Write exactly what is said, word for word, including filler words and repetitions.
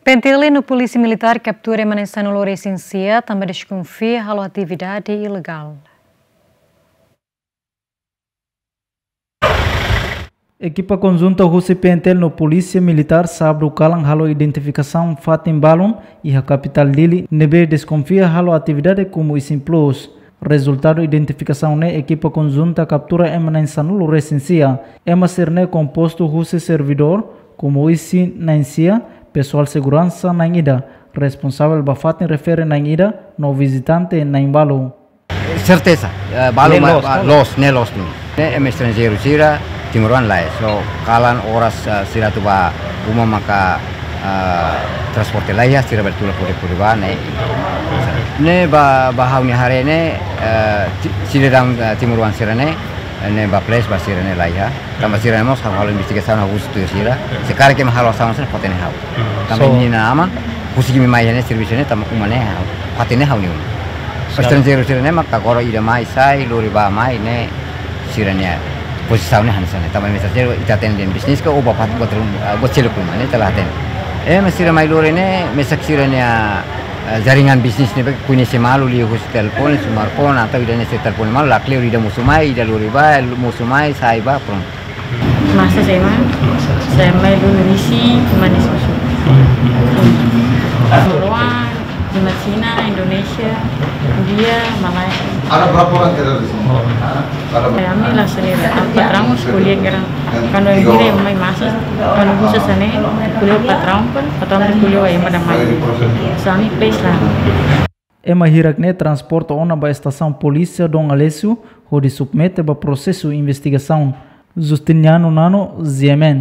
PNTL no Polísia Militár kaptura ema na'in sanulu resin sia, tanba deskonfia halo atividade ilegál. Ekipa konjunta husi PNTL no Polísia Militár sábadu kalan halo identifikasaun fatin balun iha kapitál Dili, ne'ebé deskonfia halo atividade komu isin plus. Rezultadu identifikasaun ne'e, ekipa konjunta kaptura ema na'in sanulu resin sia. Ema sira-ne'e kompostu husi servidór, komu isin na'in sia, pesoál seguransa na'in ida, responsavel ba fatin refere na'in ida, no vizitante na'in balu. Serteza, eh, balu ne'e ma-, loos, ma-, ne'e loos, ne'e loos duni. Ne'e ema estranjeiru sira, timoroan lae. So, kalan oras, eh, sira atu bá uma maka, eh, transporte laiha, sira bele tula kode-kode bá, ne'e. Ne'e ba, ba ha'u-nia haree ne'e, eh, ti-, sidadaun, eh, timoroan sira-ne'e, eh, ne'e ba ples ba sira-ne'e laiha. Tanba sira-ne'e mós ha'u halo investigasaun, ha'u husu tuir sira. Se karik ema halo asaun sira-ne'e fó-hatene ha'u. Hmm. Tanba So- imi-nia aman, husik imi mai iha ne'e servisu ne'e, tanba uma ne'e ha'u, fó-hatene ha'u-nia uma. So- Estranjeiru sira-ne'e maka agora ida mai sai, lori bá mai ne'e, sira-nia pozisaun ne'e hanesan ne'e. Tanba imi estranjeiru ita hatene dehan bisnis ka, ou bá fatin buat rum-, ah, buat seluk ruma ne'e ita la hatene. Ema sira mai lori ne'e, mesak sira-nia, ah, jaringan bisnis ne'ebé koñese malu liuhusi telefone, smartphone, atau ida-ne'e se telefone malu, lakleur ida mosu mai, ida lori bá, mosu mai, sai bá, prontu. Masas ema, sai mai dulu risi, manis mosu. Timoroan, Timor Cina, Indonesia, India, Malaysia. Ada berapa orang kerja di sini? Ada. Ya, ami la sendiri. Apa terang kuliah kerang. Kalau yang kira yang mai masas, kalau khusus sana, kuliah patrão pun, atau kuliah yang pada mai. Sami pes lah. Ema hirak ne'e transporta ona ba estasaun polísia Dom Aleixo, hodi submete ba prosesu investigasaun. Justiniano Nano, G M N.